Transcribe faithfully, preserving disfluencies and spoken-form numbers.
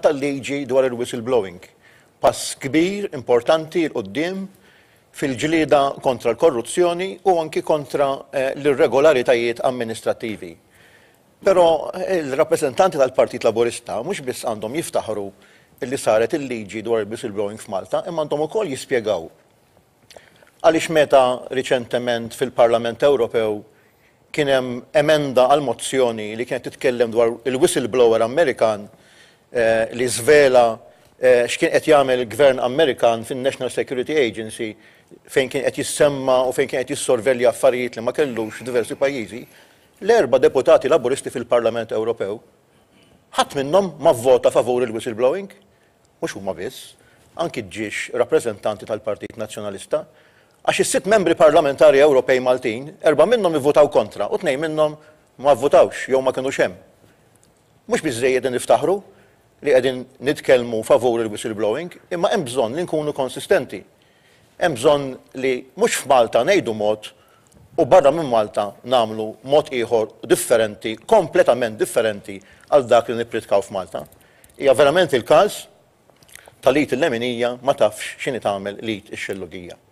Tal-liġi dwar il-whistleblowing. Pass kbir, importanti 'l quddiem fil-ġlieda kontra l-korruzzjoni u anki kontra eh, l-irregolaritajiet amministrattivi. Però eh, il-rappreżentanti tal-Partit Laburista mhux biss għandhom jiftaħru li saret il-liġi dwar il-whistleblowing f'Malta, imma għandhom ukoll jispjegaw għaliex meta riċentement fil-Parlament Ewropew kien hemm emenda għal mozzjoni li kienet titkellem dwar il-whistleblower Amerikan eh, li żvela eh, x'kien qed jagħmel il-Gvern Amerikan fin-National Security Agency, fejn kien qed jissemma u fejn kien qed jissorvelja affarijiet li ma kellux diversi pajjiżi, l-erba' deputati Laburisti fil-Parlament Ewropew ħadd minnhom ma vvota favur il-whistleblowing. Mhux huma biss, anki ġiex rappreżentanti tal-Partit Nazzjonalista, għax is-sitt membri parlamentari Ewropej Maltin, erba' minnhom ivvutaw kontra u tnejn minnhom ma vvutawx jew ma kinux hemm. Mhux biżejjed niftaħru li qegħdin nitkellmu favur il-whistleblowing, imma hemm bżonn li nkunu konsistenti. Hemm bżonn li mhux f'Malta ngħidu mod u barra minn Malta nagħmlu mod ieħor differenti, kompletament differenti għal dak li nippritkaw f'Malta. Hija verament il-każ tal-id il-leminija ma tafx x'inhi tagħmel l-id ix-xellugija.